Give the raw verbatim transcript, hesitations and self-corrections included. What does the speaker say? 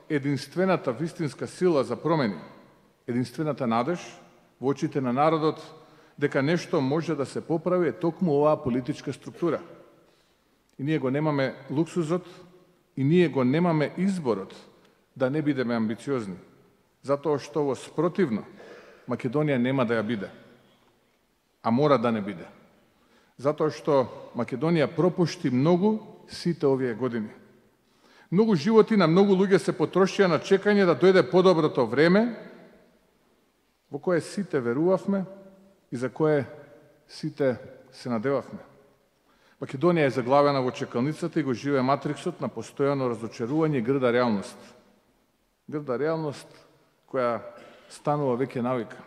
единствената вистинска сила за промени, единствената надеж во очите на народот дека нешто може да се поправи е токму оваа политичка структура. И ние го немаме луксузот, и ние го немаме изборот да не бидеме амбициозни, затоа што во спротивно Македонија нема да ја биде, а мора да не биде. Затоа што Македонија пропушти многу сите овие години. Многу животи на многу луѓе се потрошија на чекање да дојде подоброто време, во кое сите верувавме и за кое сите се надевавме. Македонија е заглавена во чекалницата и го живее матриксот на постојано разочарување и грда реалност. Грда реалност која станува веќе навика.